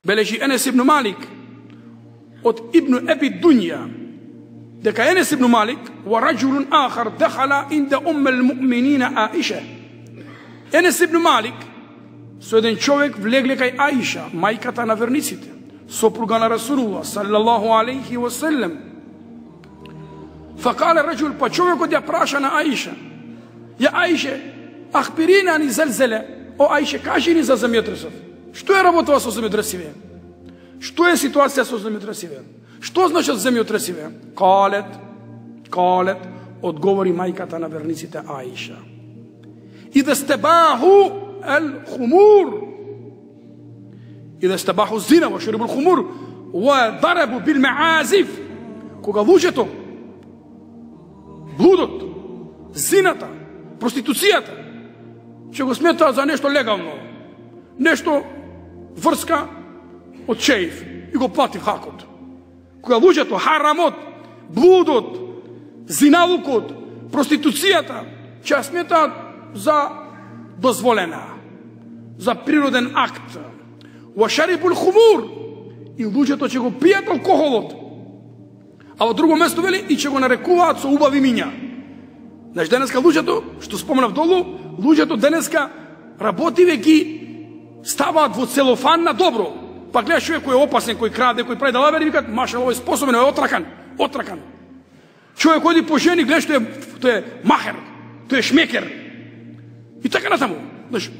Бележи Енес ибн Малик од Ибн Еби Дунја дека Енес ибн Малик ва раджулун ахар дехала инда уммел муъминина Аиша. Енес ибн Малик со еден човек влегле кај Аиша, мајката на верниците, сопруга на Расулуллах саллаллаху алейхи ва саллем. Факале раджул, па човекот ја праша на Аиша: ја Аиша, ахбирина ани зелзеле, о Аиша, кажи ни за земјотресот. Што е работава со земјотресиве? Што е ситуација со земјотресиве? Што значат земјотресиве? Калет, одговори мајката на верниците Аиша: ида стебаху الخمور إذا استباحوا الزنا وشربوا الخمور وضربوا بالمعازف, кога луѓето, блудот, зината, проституцијата ќе го сметаат за нешто легално, нешто врска од шеиф и го плати хакот. Кога луѓето харамот, блудот, зиналукот, проституцијата ќе сметаат за дозволена, за природен акт. Ва шарибул хумур, и луѓето ќе го пијат алкохолот. А во друго место вели и ќе го нарекуваат со убави миња. Знаеш, денеска луѓето, што споменав долу, луѓето денеска работиве ги ставаат во целофан на добро. Па гледаш човек кој е опасен, кој краде, кој прави далавери, викат: машал, овој способен, е отракан. Човек оди по жени, гледаш, тој е махер, тој е шмекер. И така натаму. Знаеш,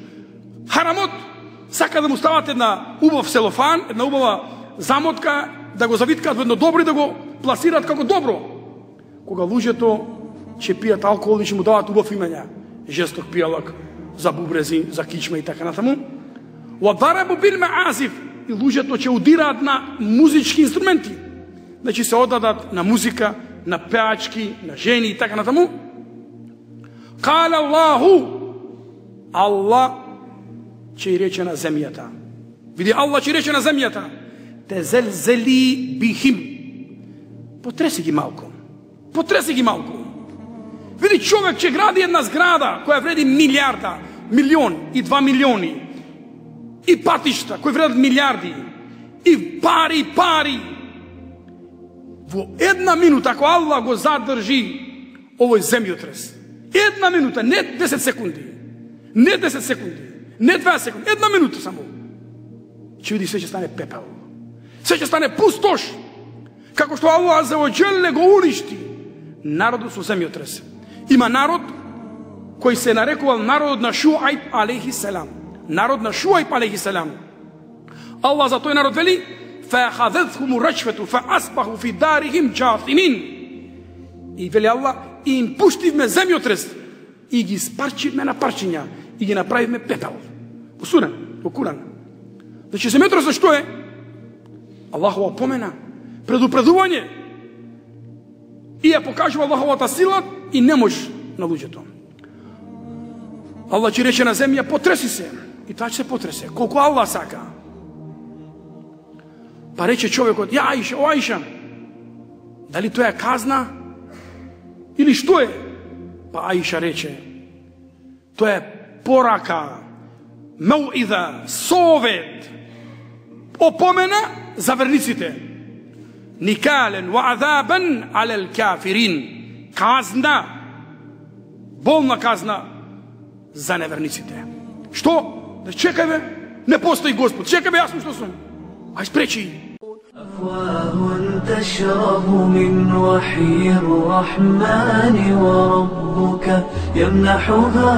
харамот сака да му стават една убав целофан, една убава замотка, да го завиткаат во едно добро и да го пласираат како добро. Кога луѓето ќе пијат алкохол и ќе му дават убав имења, жесток пијалак, за бубрези, за кичма и така натаму. Ва дарабу бил маазиф, и луѓето ќе удираат на музички инструменти. Значи се одадат на музика, на пеачки, на жени и така натаму. Кала Аллаху, Аллах ќе рече на земјата. Види, Аллах ќе рече на земјата: те зелзели бихим. Потреси ги малку. Види, човек ќе гради една зграда која вреди милиарда, милион и 2 милиони. И патишта кои вредат милиарди. И пари. Во една минута, ако Аллах го задржи овој земјотрес, една минута, не 10 секунди, не 2 секунди, една минута само, ќе види, се ќе стане пепел. Се ќе стане пустош. Како што Аллах за оџеле го уништи народот со земјотрес. Има народ кој се нарекувал народот на Шуајб алейхи селам. Народ на Шуајб алейхи селам. Аллах за тој народ вели: فَأَخَذَتْهُمُ الرَّجْفَةُ فَأَصْبَحُوا فِي دَارِهِمْ جَاثِمِينَ. И вели Аллах, и им пуштивме земјотрес и ги спарчивме на парчиња и ги направивме пепел. Во Куран. Значи земјотресот што е? Аллахова помена, предупредување. И ја покажува Аллаховата сила и немош на луѓето. Аллах ќе рече на земја: потреси се. И таа ќе се потресе, колку Аллах сака. Па рече човекот: ја Аиша, о Аиша, дали тоа е казна или што е? Па Аиша рече: тоа е порака, мауида, совет, опомена за верниците. Никален ва азабан алел кафирин. Казна, болна казна за неверниците. Што? Да чекајме, не постои Господ. Чекајме, јас сум што сум. Ај спречи. أفواه تشرب من وحي الرحمن وربك يمنحها